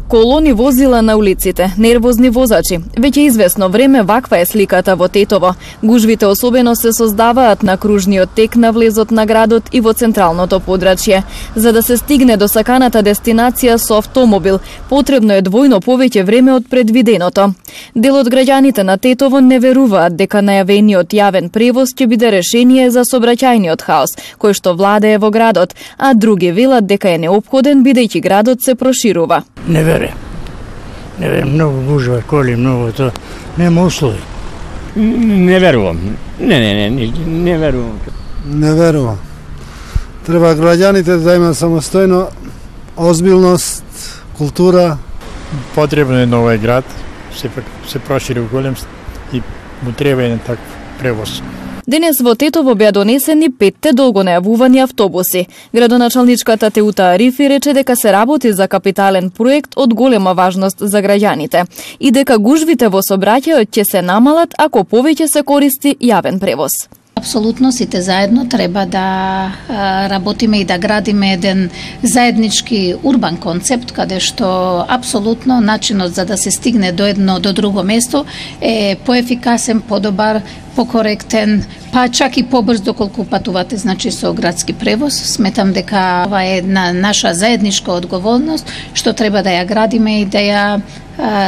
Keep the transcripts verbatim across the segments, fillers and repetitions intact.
Колони возила на улиците, нервозни возачи. Веќе известно време ваква е сликата во Тетово. Гужвите особено се создаваат на кружниот тек на влезот на градот и во централното подрачје. За да се стигне до саканата дестинација со автомобил, потребно е двојно повеќе време од предвиденото. Дел од граѓаните на Тетово не веруваат дека најавениот јавен превоз ќе биде решение за сообраќајниот хаос, кој што владее во градот, а други велат дека е неопходен бидејќи градот се проширува. Не вере. Не вере, многу гужва, коли, многу тоа. Нема услови. Не верувам. Не, не, не, не, не верувам. Не верувам. Треба граѓаните да имаат самостојно озбилност, култура. Потребно е новој град, се се прошири голем и му треба еден таков превоз. Денес во Тетово беа донесени петте долго најавувани автобуси. Градоначалничката Теута Арифи рече дека се работи за капитален проект од голема важност за граѓаните и дека гужвите во сообраќајот ќе се намалат ако повеќе се користи јавен превоз. Апсолутно сите заедно треба да работиме и да градиме еден заеднички урбан концепт каде што апсолутно начинот за да се стигне до едно до друго место е поефикасен, подобар, покоректен, па чак и побрз доколку патувате значи со градски превоз. Сметам дека ова е една наша заедничка одговорност што треба да ја градиме и да ја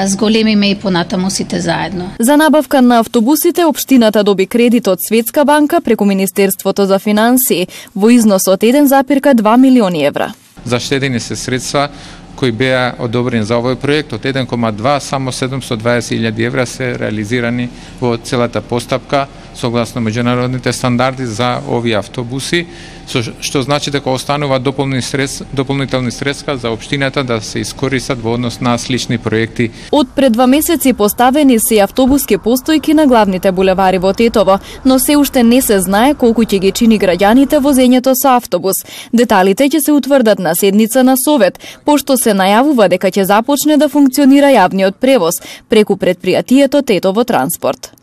зголемиме и понатаму сите заедно. За набавка на автобусите општината доби кредит од Светска банка преку Министерството за финансии во износ од еден запирка два милиони евра. Заштедени се средства кои беа одобрени за овој проект од еден кoma два, само седумстотини и дваесет илјади евра се реализирани во целата постапка согласно меѓународните стандарди за овие автобуси, што значи дека останува дополнителни средства, дополнителни средства за општината да се искористат во однос на слични проекти. Од пред два месеци поставени се автобуски постојки на главните булевари во Тетово, но се уште не се знае колку ќе ги чини граѓаните возењето со автобус. Деталите ќе се утврдат на седница на Совет, пошто се најавува дека ќе започне да функционира јавниот превоз преку претпријатието Тетово Транспорт.